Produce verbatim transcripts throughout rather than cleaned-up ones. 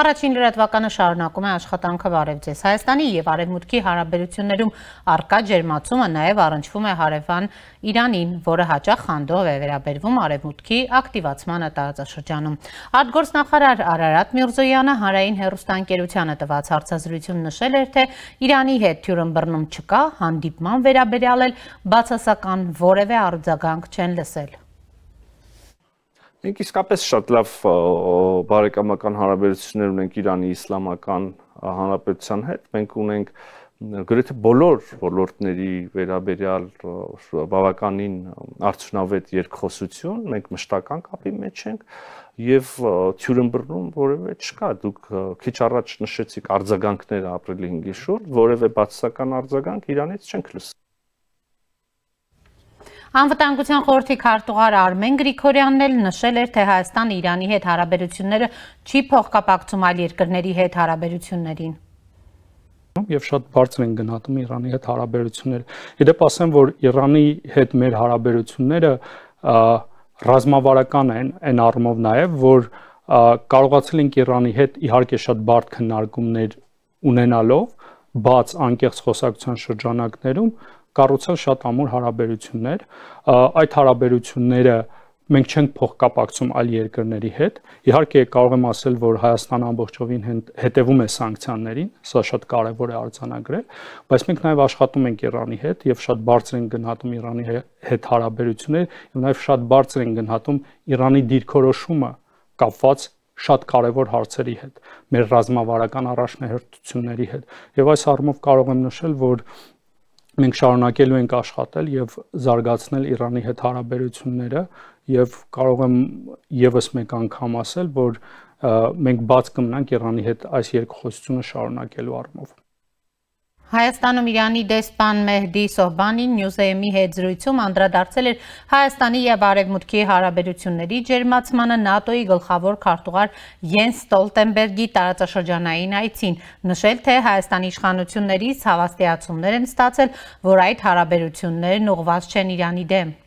Առաջին լրատվականը շարունակում է աշխատանքը բարև ձեզ։ Հայաստանի եւ Արևմուտքի հարաբերություններում առկա ջերմացումը նաեւ առնչվում է հարևան Իրանին, որը հաճախ խանդով է վերաբերվում Արևմուտքի ակտիվացմանը տարածաշրջանում։ Արտգործնախարար Արարատ Միրզոյանը հանրային հեռուստաընկերությանը տված հարցազրույցում նշել էր, թե Իրանի հետ թյուրըմբռնում չկա, հանդիպման վերաբերյալ էլ բացասական որևէ արձագանք չեն լսել։ Մենք իսկապես շատ լավ բարեկամական հարաբերություններ ունենք Իրանի Իսլամական Հանրապետության հետ։ Մենք ունենք գրեթե բոլոր ոլորտների վերաբերյալ բավականին արդյունավետ երկխոսություն, մենք մշտական կապի մեջ ենք եւ թյուրըմբռնում որևէ չկա։ Դուք քիչ առաջ նշեցիք արձագանքները ապրիլի հինգի շուրջ, որևէ բացասական արձագանք Իրանից չենք լսել։ Անվտանգության խորհրդի քարտուղար Արմեն Գրիգորյանն էլ նշել էր, թե Հայաստանը Իրանի հետ հարաբերությունները չի փոխկապակցում այլ երկրների հետ հարաբերություններին։ Եվ շատ բարձր են գնահատում Իրանի հետ հարաբերությունները։ Իդեպ ասեմ, որ Իրանի հետ մեր հարաբերությունները ռազմավարական են, այն առումով նաև, որ կարողացել ենք Իրանի հետ իհարկե շատ բարդ քննարկումներ ունենալով, բաց անկեղծ խոսակցության շրջանակներում կառուցել շատ ամուր հարաբերություններ, այդ հարաբերությունները մենք չենք փոխկապակցում այլ երկրների հետ։ Իհարկե կարող եմ ասել, որ Հայաստանը ամբողջովին հետևում է սանկցիաներին, սա շատ կարևոր է արձանագրել, բայց մենք նաև աշխատում ենք Իրանի հետ եւ շատ բարձր են գնահատում Իրանի հետ հարաբերությունները եւ նաև շատ բարձր են գնահատում Իրանի դիրքորոշումը կապված շատ կարևոր հարցերի հետ, մեր ռազմավարական առաջնահերթությունների հետ։ Եվ այս առումով կարող եմ նշել, որ մենք շարունակելու ենք աշխատել եւ զարգացնել Իրանի հետ հարաբերությունները եւ կարող եմ եւս մեկ անգամ ասել, որ մենք բաց կմնանք Իրանի հետ այս երկխոսությունը շարունակելու առումով։ Հայաստանում Իրանի դեսպան Մեհդի Սոհբանին Նյուզեյմի հետ զրույցում անդրադարձել էր Հայաստանի եւ Արևմուտքի հարաբերությունների ջերմացմանը ՆԱՏՕ-ի գլխավոր քարտուղար Յենս Ստոլտենբերգի տարածաշրջանային այցին, նշել, թե Հայաստանի իշխանություններից հավաստիացումներ են ստացել, որ այդ հարաբերություններն ուղղված չեն Իրանի դեմ։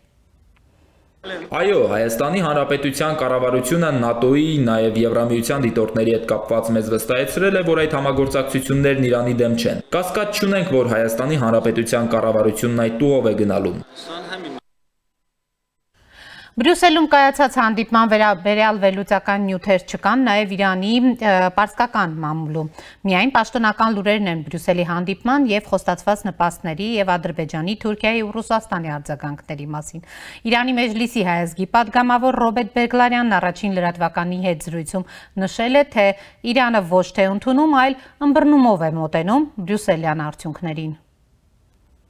Այո, Հայաստանի Հանրապետության կառավարությունը ՆԱՏՕ-ի, նաև Եվրամիության դիտորդների հետ կապված մեզ վստահեցրել է, որ այդ համագործակցություններն Իրանի դեմ չեն։ Կասկած չունենք, որ Հայաստանի Հանրապետության կառավարությունն այդ ուղով է գնալու։ Բրյուսելում կայացած հանդիպման վերաբերյալ վերլուծական նյութեր չկան, նաև Իրանի պարսկական մամուլում։ Միայն պաշտոնական լուրերն են Բրյուսելի հանդիպման եւ խոստացված նպաստների եւ Ադրբեջանի, Թուրքիայի ու Ռուսաստանի արձագանքների մասին։ Իրանի Մեջլիսի հայազգի падգամավոր Ռոբերտ Բեգլարյանն առաջին լրատվականի հետ զրույցում նշել է, թե Իրանը ոչ թե ընդունում, այլ ըմբռնումով է մոտենում Բրյուսելյան արդյունքներին։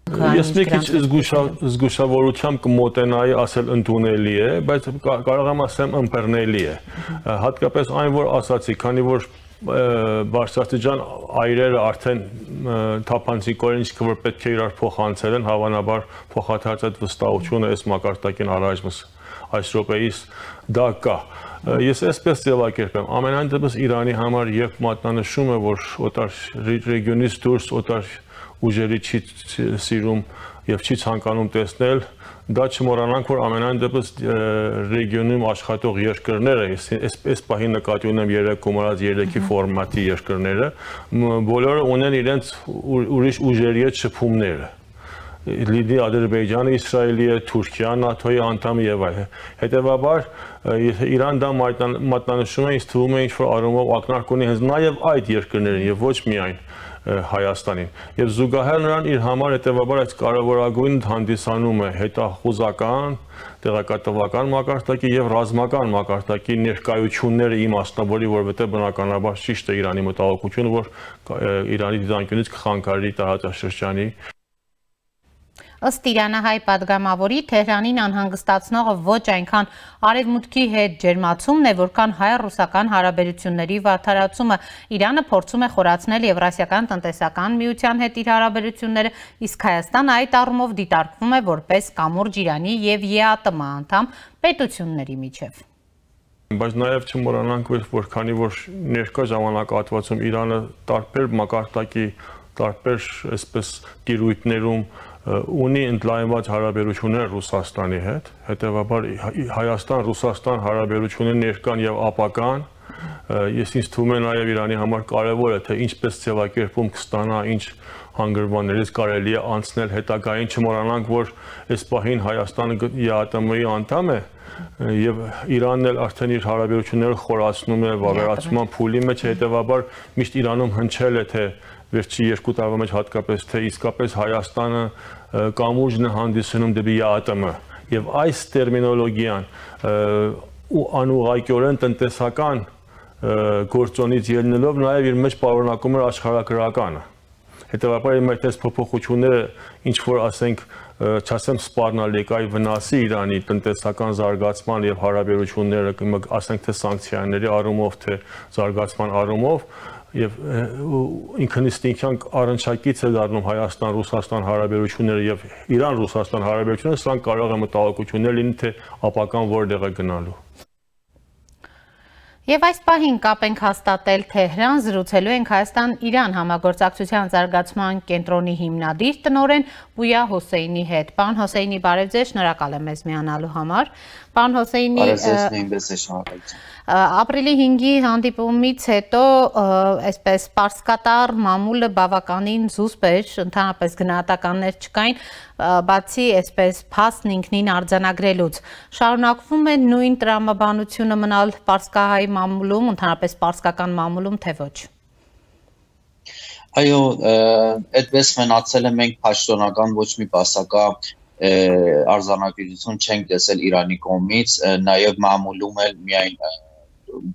Ես մի քիչ զգուշավորությամբ կմոտենայի ասել ընդունելի է, բայց կարող եմ ասեմ ըմբռնելի է։ Հատկապես այն, որ ասացի, քանի որ բարձրաստիճան այրերը արդեն թափանցիկորեն ինչքը որ պետք է իրար փոխանցել են, հավանաբար փոխադարձ այդ վստահությունը այս մակարդակին առայժմ այս րոպեից դա կա։ Ես այսպես ձևակերպեմ, ամենայն դեպս Իրանի համար երբ մատնանշում է, որ օտար ռեգիոնից դուրս օտար ուժերի չի սիրում եւ չի ցանկանում տեսնել, դա չմոռանանք, որ ամենայն դեպս ռեգիոնում աշխատող երկրները, այս պահին նկատի ունեմ երեք կոմարած երեքի ֆորմատի երկրները, բոլորը ունեն իրենց ուրիշ ուժերի հետ շփումները։ Լիդի Ադրբեջանը, Իսրայելի է, Թուրքիան, ՆԱՏՕ-ի անդամ եւ այլն։ Հետեւաբար Իրան դա մատնանշում է, ինձ թվում է ինչ-որ առումով ակնարկ ունի հենց նաեւ այդ երկրներին եւ ոչ միայն Հայաստանին։ Եվ զուգահեռ նրան իր համար հետևաբար այս կարևորագույն հանդիսանում է հետախուզական, տեղեկատվական մակարդակի եւ ռազմական մակարդակի ներկայությունները իմաստնավորի, որովհետեւ բնականաբար ճիշտ է Իրանի մտահոգությունը, որ Իրանի դիտանկյունից կխանգարի տարածաշրջանի Ըստ իրանահայ падգամավորի Թեհրանին անհանգստացնողը ոչ այնքան Արևմուտքի հետ ջերմացումն է, որքան հայ-ռուսական հարաբերությունների վատթարացումը։ Իրանը փորձում է խորացնել Եվրասիական տնտեսական միության հետ իր հարաբերությունները, իսկ Հայաստանը այդ առումով դիտարկվում է որպես կամուրջ Իրանի եւ ԵԱՏՄ անդամ պետությունների միջև։ Բայց նաև չմոռանանք, որ քանի որ ներկա ժամանակահատվածում Իրանը տարբեր մակարդակի, տարբեր այսպես տիրույթներում ունի ընդլայնված հարաբերություններ Ռուսաստանի հետ, հետևաբար Հայաստան-Ռուսաստան հարաբերությունները ներկան եւ ապական Ես ինձ թվում է նաև Իրանի համար կարևոր է, թե ինչպես ձևակերպում կստանա, ինչ հանգրվաններից կարելի է անցնել հետագային, չմոռանանք, որ այս պահին Հայաստանը ԵԱՏՄ-ի անդամ է եւ Իրանն էլ արդեն իր հարաբերությունները խորացնում է վավերացման փուլի մեջ, հետեւաբար միշտ Իրանում հնչել է, թե վերջի երկու տարվա մեջ հատկապես, թե իսկապես Հայաստանը կամուրջն է հանդիսանում դեպի ԵԱՏՄ եւ այս տերմինոլոգիան ու անուղղակիորեն տնտեսական գործոնից ելնելով նաև իր մեջ պարունակում էր աշխարհագրականը։ Հետևաբար իմ այդպես փոփոխությունները ինչ որ ասենք չասեմ սպառնալիքայի վնասի Իրանի տնտեսական զարգացման եւ հարաբերությունները ասենք թե սանկցիաների առումով թե զարգացման առումով եւ ինքնիստինքյան առնչակից է դառնում Հայաստան-Ռուսաստան հարաբերությունները եւ Իրան-Ռուսաստան հարաբերությունները, սրանք կարող է մտահոգություններ լինի թե ապական որտեղ է գնալու։ Եվ այս պահին կապ ենք հաստատել Թեհրան, զրուցելու ենք Հայաստան-Իրան համագործակցության զարգացման կենտրոնի հիմնադիր տնօրեն Բույա Հոսեյնի հետ։ Պարոն Հոսեյնի, բարև ձեզ, շնորհակալ եմ մեզ միանալու համար։ Պարոն Հոսեյնի, ապրիլի հինգի հանդիպումից հետո այսպես պարսկատար մամուլը բավականին զուսպ էր, ընդհանրապես գնահատականներ չկային, բացի այսպես փաստն ինքնին արձանագրելուց։ Շարունակվում է նույն տրամաբանությունը մնալ պարսկահայ մամուլում, ընդհանրապես պարսկական մամուլում, թե ոչ։ Այո, այդպես մնացել է, մենք պաշտոնական ոչ մի բասակա արձանագրություն չենք տեսել Իրանի կողմից, նաև մամուլում էլ միայն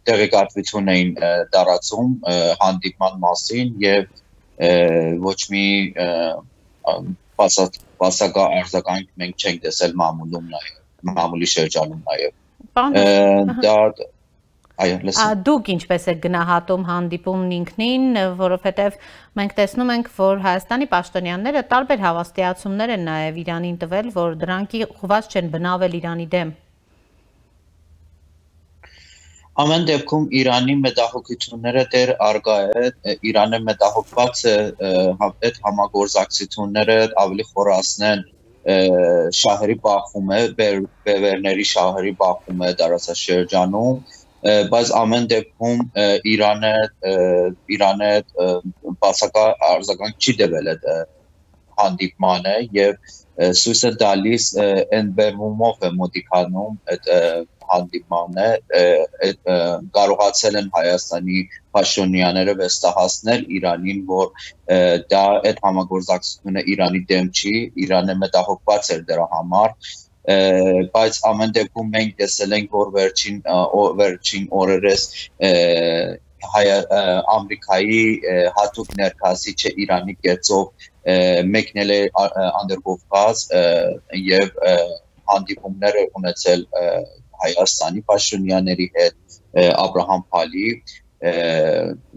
տեղեկատվություն էին տարածում հանդիպման մասին եւ ոչ մի բասակա արձագանք մենք չենք տեսել մամուլում նաև մամուլի շրջանում նաև դա Դուք ինչպես եք գնահատում հանդիպումն ինքնին, որովհետև մենք տեսնում ենք, որ Հայաստանի պաշտոնյաները տարբեր հավաստիացումներ են նաև Իրանին տվել, որ դրանք ուղղված չեն բնավել Իրանի դեմ։ Ամեն դեպքում Իրանի մտահոգությունները դեռ առկա է, Իրանը մտահոգված է այդ համագործակցությունները ավելի խորացնեն շահերի բախում է, բևերների շահերի բախում է տարածաշրջանում, բայց ամեն դեպքում Իրանը Իրանը բացակա արձագանք չի տվել այդ հանդիպմանը եւ ցույց է տալիս այն բերումով է մոտիկանում այդ հանդիպմանը կարողացել են Հայաստանի պաշտոնյաները վստահեցնել Իրանին, որ դա այդ համագործակցությունը Իրանի դեմ չի, Իրանը մտահոգված էր դրա համար, բայց ամեն դեպքում մենք տեսել ենք, որ վերջին վերջին օրերս Ամերիկայի հատուկ ներկայացուցիչը Իրանի կեցով մեկնել է Անդրկովկազ եւ հանդիպումներ ունեցել Հայաստանի պաշտոնյաների հետ, Աբրահամ Փալի,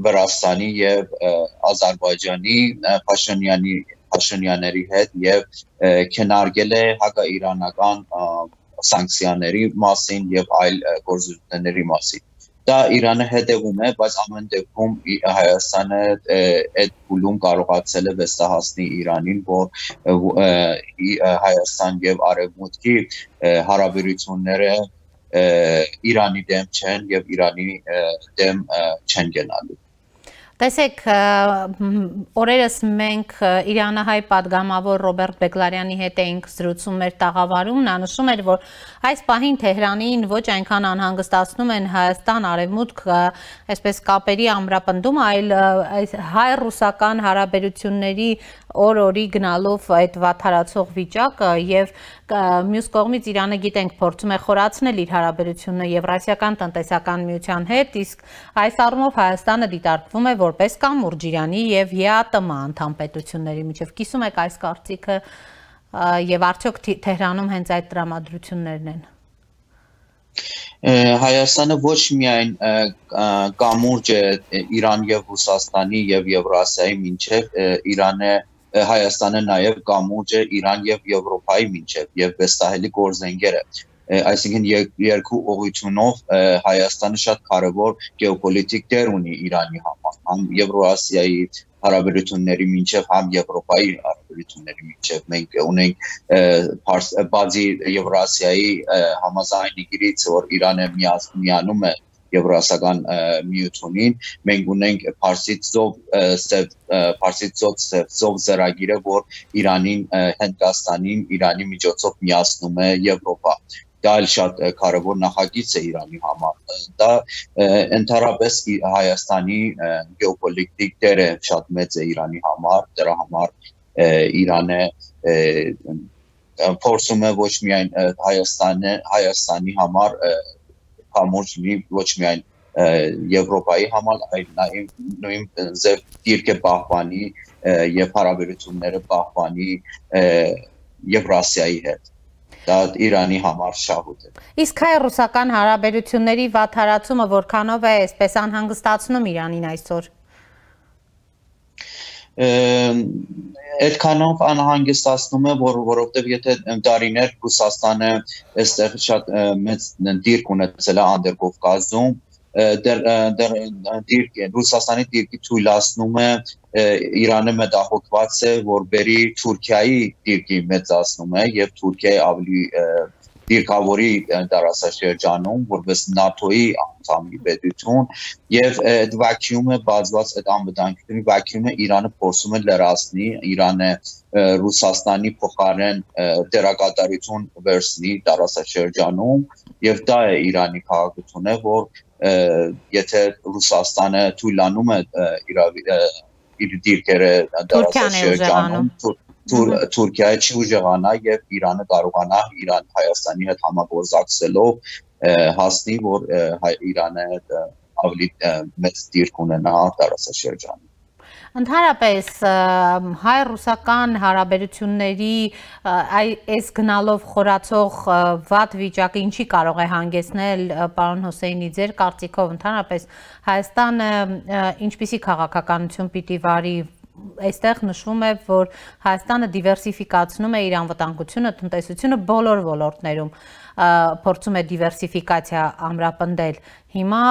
Վրաստանի եւ Ադրբեջանի պաշտոնյանի պաշտոնյաների հետ եւ քննարկել է հակաիրանական սանկցիաների մասին եւ այլ գործողությունների մասին։ Դա Իրանը հետևում է, բայց ամեն դեպքում Հայաստանը այդ փուլում կարողացել է վստահեցնել Իրանին, որ Հայաստան եւ Արևմուտքի հարաբերությունները Իրանի դեմ չեն եւ Իրանի դեմ չեն գնալու։ Տեսեք, օրերս մենք իրանահայ պատգամավոր Ռոբերտ Բեգլարյանի հետ էինք զրուցում մեր տաղավարում, նա նշում էր, որ այս պահին Թեհրանին ոչ այնքան անհանգստացնում են Հայաստան-Արևմուտք այսպես կապերի ամրապնդումը, այլ հայ-ռուսական հարաբերությունների օր-օրի գնալով այդ վատթարացող վիճակը եւ մյուս կողմից Իրանը գիտենք փորձում է խորացնել իր հարաբերությունը Եվրասիական տնտեսական միության հետ, իսկ այս առումով Հայաստանը դիտարկվում է որպես կամուրջ Իրանի եւ ԵԱՏՄ անդամ պետությունների միջև։ Կիսում եք այս կարծիքը եւ արդյոք Թեհրանում հենց այդ տրամադրություններն են։ Հայաստանը ոչ միայն կամուրջ է Իրան եւ Ռուսաստանի եւ Եվրասիայի միջև, Իրանը Հայաստանը նաև կամուրջ է Իրան եւ Եվրոպայի միջև եւ վստահելի գործընկեր է։ Այսինքն երկու ուղղությունով Հայաստանը շատ կարևոր գեոպոլիտիկ դեր ունի Իրանի համար, համ Եվրասիայի հարաբերությունների միջև, համ Եվրոպայի հարաբերությունների միջև։ Մենք ունենք բացի Եվրասիայի համաձայնագրից, որ Իրանը միանում է Եվրասիական միությունին, մենք ունենք Փարսից ծով Փարսից ծով ծրագիրը, որ Իրանին, Հնդկաստանին, Իրանի միջոցով միացնում է Եվրոպա։ Դա էլ շատ կարևոր նախագիծ է Իրանի համար։ Դա ընդհանրապես Հայաստանի գեոպոլիտիկ դերը շատ մեծ է Իրանի համար, դրա համար Իրանը փորձում է ոչ միայն Հայաստանը, Հայաստանի համար կամուրջ լինի ոչ միայն Եվրոպայի համար, այլ նաև նույն ձև դիրքը պահպանի եւ հարաբերությունները պահպանի Եվրասիայի հետ։ Դա Իրանի համար շահույթ է։ Իսկ հայ-ռուսական հարաբերությունների վատթարացումը որքանով է այսպես անհանգստացնում Իրանին այսօր։ Այդքանով անհանգստացնում է, որ որովհետև եթե դարիներ Ռուսաստանը այստեղ շատ մեծ դիրք ունեցել է Անդրկովկազում, Ռուսաստանի դիրքի թույլատնում է Իրանը մտահոգված է, որ բերի Թուրքիայի դիրքի մեծացնում է եւ Թուրքիայի ավելի դիրքավորի տարածաշրջանում, որպես ՆԱՏՕ-ի անդամի պետություն եւ այդ վակյումը բացված այդ անվտանգությունի վակյումը Իրանը փորձում է լրացնի, Իրանը Ռուսաստանի փոխարեն դերակատարություն վերցնի տարածաշրջանում եւ դա է Իրանի քաղաքությունը, որ եթե Ռուսաստանը թույլանում է իր դիրքերը տարածաշրջանում Թուրքիայի չի ուժեղանա եւ Իրանը կարողանա Իրան Հայաստանի հետ համագործակցելով հասնի, որ Իրանը ավելի մեծ դիրք ունենա տարածաշրջանում։ Ընդհանրապես հայ-ռուսական հարաբերությունների այս գնալով խորացող վատ վիճակը ինչի կարող է հանգեցնել, պարոն Հոսեյնի, ձեր կարծիքով ընդհանրապես Հայաստանը ինչպիսի քաղաքականություն պիտի վարի։ Այստեղ նշվում է, որ Հայաստանը դիվերսիֆիկացնում է իր անվտանգությունը, տնտեսությունը բոլոր ոլորտներում, փորձում է դիվերսիֆիկացիա ամրապնդել։ Հիմա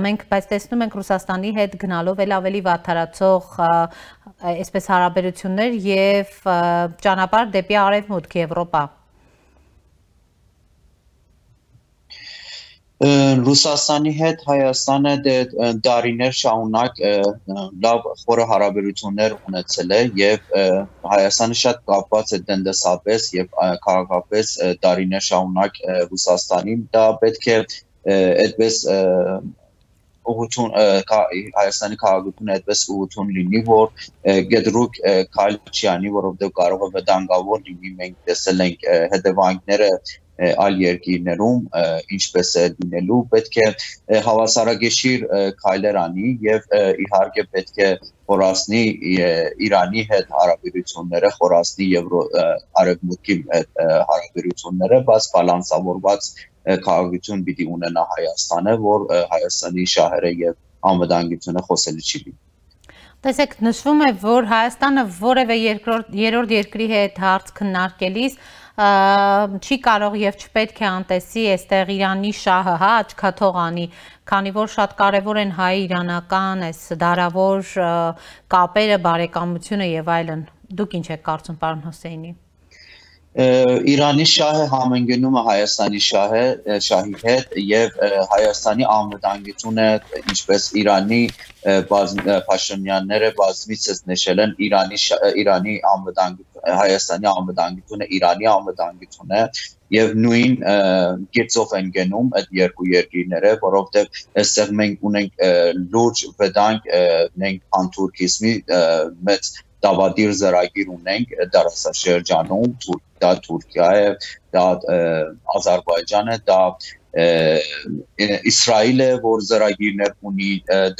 մենք բայց տեսնում ենք Ռուսաստանի հետ գնալով էլ ավելի վատթարացող այսպես հարաբերություններ եւ ճանապարհ դեպի արևմուտք Եվրոպա։ Ռուսաստանի հետ Հայաստանը դարիներ շարունակ լավ խորը հարաբերություններ ունեցել է եւ Հայաստանը շատ կապված է տնտեսապես եւ քաղաքապես դարիներ շարունակ Ռուսաստանին, դա պետք է այդպես ուղղություն Հայաստանի քաղաքությունը այդպես ուղղություն լինի, որ գետրուկ քայլ չի անի, որովհետեւ կարող է վտանգավոր լինի, մենք տեսել ենք հետևանքները այլ երկիրներում ինչպես է լինելու, պետք է հավասարակշիռ քայլեր անի եւ իհարկե պետք է խորացնի Իրանի հետ հարաբերությունները, խորացնի Եվրո արևմուտքի հետ հարաբերությունները, բայց բալանսավորված քաղաքություն պիտի ունենա Հայաստանը, որ Հայաստանի շահերը եւ անվտանգությունը խոսելի չի լինի։ Տեսեք, նշվում է, որ Հայաստանը որևէ երրորդ երկրի հետ հարց քննարկելիս չի կարող եւ չպետք է անտեսի այստեղ Իրանի շահը, հա, աչքաթող անի, քանի որ շատ կարեւոր են հայ-իրանական այս դարավոր կապերը, բարեկամությունը եւ այլն։ Դուք ինչ եք կարծում, պարոն Հոսեյնի։ Իրանի շահը համընկնում է Հայաստանի շահը, շահի հետ եւ Հայաստանի անվտանգությունը, ինչպես Իրանի Փաշինյանները բազմիցս նշել են, Իրանի Իրանի անվտանգությունը, Հայաստանի անվտանգությունը, Իրանի անվտանգությունը եւ նույն գծով են գնում այդ երկու երկիրները, որովհետեւ այստեղ մենք ունենք լուրջ վտանգ, մենք անթուրքիզմի մեծ դավադիր ծրագիր ունենք տարածաշրջանում, դա Թուրքիա է, դա Ադրբեջանը, դա Իսրայելը, որ ծրագիրներ ունի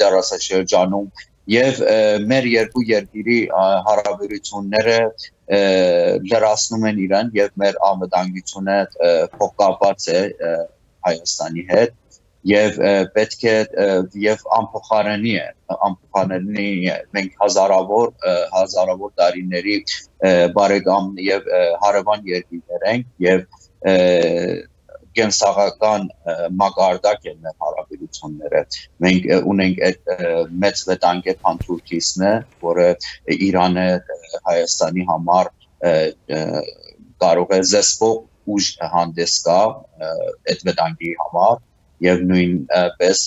տարածաշրջանում եւ մեր երկու երկրի հարաբերությունները լրացնում են իրան եւ մեր անվտանգությունը փոխկապված է Հայաստանի հետ եւ պետք է եւ անփոխարինի է անփոխարինի է մենք հազարավոր հազարավոր տարիների բարեկամ եւ հարևան երկիրներ ենք եւ կենսաղական մակարդակ են մեր հարաբերությունները մենք ունենք այդ մեծ վտանգ է փանթուրքիզմը, որը Իրանը Հայաստանի համար կարող է զսպող ուժ հանդես գա այդ վտանգի համար եւ նույնպես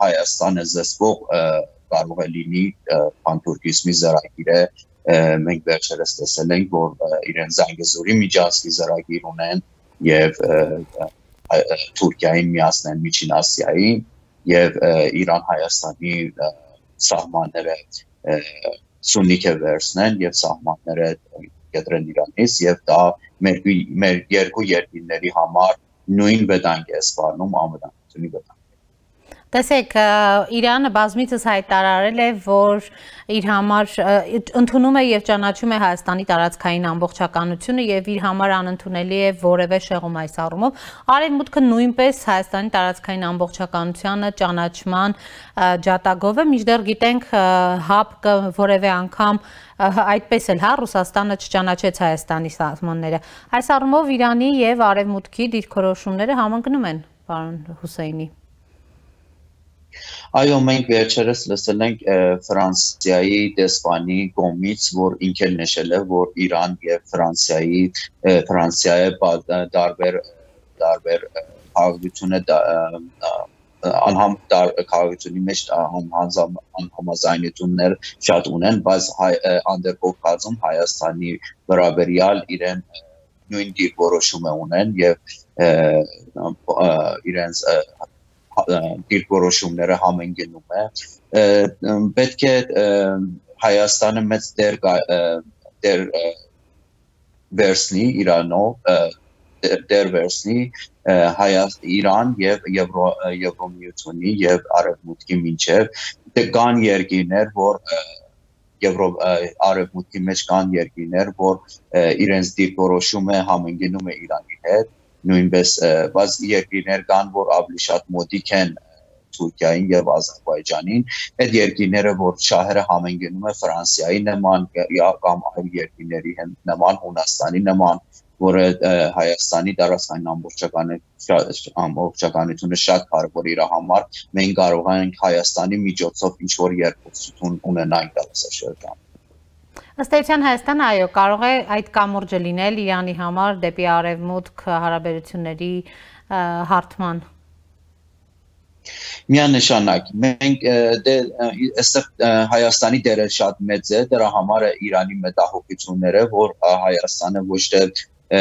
Հայաստանը զսպող կարող է լինի պանթուրքիզմի զրագիրը մենք վերջերս տեսել ենք որ իրեն Զանգեզուրի միջանցքի զրագիր ունեն եւ Թուրքիային միացնեն Միջին Ասիային եւ Իրան Հայաստանի սահմանները սուննիկ է վերցնեն եւ սահմանները կտրեն Իրանից եւ դա մեր մեր երկու երկրների համար նույն վտանգ է սպառնում անվտանգությունի վտանգ։ Տեսեք, Իրանը բազմիցս հայտարարել է, որ իր համար ընդունում է եւ ճանաչում է Հայաստանի տարածքային ամբողջականությունը եւ իր համար անընդունելի է որևէ շեղում այս առումով։ Արևմուտքը նույնպես Հայաստանի տարածքային ամբողջականությունը ճանաչման ջատագով է, մինչդեռ գիտենք ՀԱՊԿ որևէ անգամ այդպես էլ հա Ռուսաստանը չճանաչեց Հայաստանի սահմանները։ Այս առումով Իրանի եւ Արևմուտքի դիրքորոշումները համընկնում են, պարոն Հուսեյնի։ Այո, մենք վերջերս լսել ենք Ֆրանսիայի դեսպանի կողմից, որ ինքն նշել է, որ Իրան եւ Ֆրանսիայի Ֆրանսիայի տարբեր տարբեր քաղաքությունը անհամ քաղաքությունի մեջ անհամաձայնություններ շատ ունեն, բայց անդրկովկասում Հայաստանի վերաբերյալ իրեն նույն դիրքորոշում ունեն եւ իրենց դիրքորոշումները համընկնում է պետք է Հայաստանը մեծ դեր դեր վերցնի Իրանով դեր վերցնի Իրան եւ Եվրոմիությունի եւ Արևմուտքի միջեւ կան երկիրներ որ Արևմուտքի մեջ կան երկիրներ որ իրենց դիրքորոշումը համընկնում է Իրանի հետ նույնպես բայց երկիրներ կան որ ավելի շատ մոտիկ են Թուրքիային եւ Ադրբեջանին այդ երկիրները որ շահերը համընկնում է Ֆրանսիայի նման կամ այլ երկիրների նման Հունաստանի նման որը Հայաստանի տարածքային ամբողջականությունը շատ կարևոր իր համար մենք կարող ենք Հայաստանի միջոցով ինչ որ երկխոսություն ունենալ տարածաշրջանում Ըստ էության Հայաստանը այո կարող է այդ կամուրջը լինել Իրանի համար դեպի արևմուտք հարաբերությունների հարթման Միանշանակ մենք դե այստեղ Հայաստանի դերը շատ մեծ է դրա համար է Իրանի մտահոգությունները որ Հայաստանը ոչ թե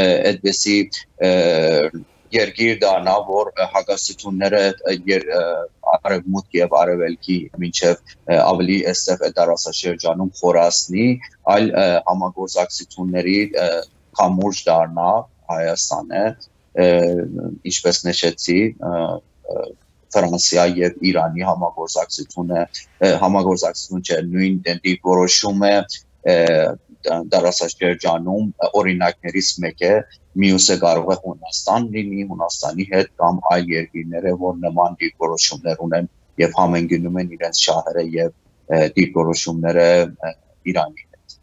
այդպեսի երկիր դառնա որ հակասությունները արևմուտք եւ արևելքի մինչեւ ավելի այստեղ տարածաշրջանում խորացնի այլ համագործակցությունների կամուրջ դառնա Հայաստանը ինչպես նշեցի Ֆրանսիա եւ Իրանի համագործակցությունը համագործակցություն չէ նույն դիրքորոշումը տարածաշրջանում օրինակներից մեկը մյուսը կարող է Հունաստան լինի Հունաստանի հետ կամ այլ երկիրները որ նման դիրքորոշումներ ունեն եւ համընկնում են իրենց շահերը եւ դիրքորոշումները Իրանի հետ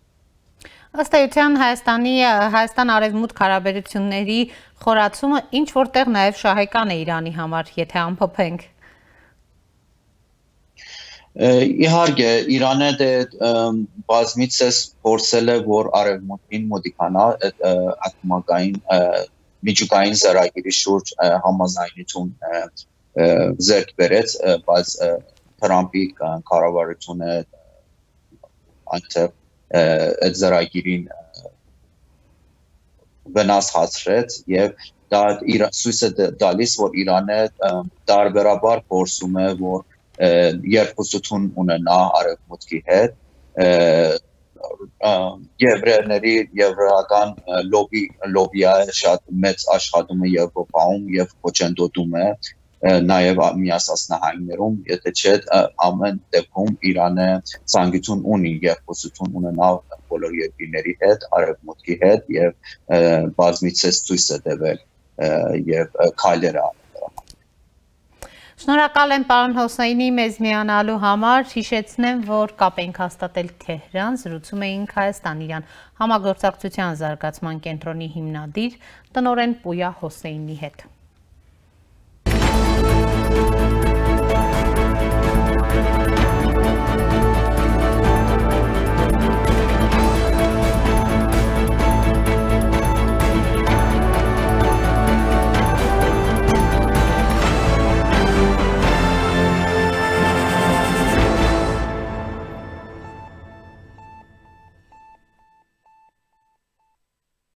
Ըստ էության Հայաստանի Հայաստան արևմուտք հարաբերությունների խորացումը ինչ որտեղ նաեւ շահեկան է Իրանի համար եթե ամփոփենք Իհարկե Իրանը դե բազմիցս փորձել է որ արևմուտքին մոտիկանա ակումբային միջուկային զրագիրի շուրջ համաձայնություն ձեռք բերեց բայց Թրամփի կառավարությունը այնտեղ այդ զրագիրին վնաս հասցրեց եւ դա ցույց է տալիս որ Իրանը տարբերաբար փորձում է որ երկխոսություն ունենա արևմուտքի հետ եվրեյների եվրական լոբի լոբիա շատ մեծ աշխատում է Եվրոպայում եւ խոչընդոտում է նաեւ Միացյալ Նահանգներում եթե չէ ամեն դեպքում Իրանը ցանկություն ունի երկխոսություն ունենալ բոլոր երկրների հետ արևմուտքի հետ եւ բազմիցս ցույց է տվել եւ քայլեր Շնորհակալ եմ պարոն Հոսեյնի մեզ միանալու համար, հիշեցնեմ, որ կապ ենք հաստատել Թեհրան, զրուցում էինք Հայաստան-Իրան համագործակցության զարգացման կենտրոնի հիմնադիր տնօրեն Պույա Հոսեյնի հետ։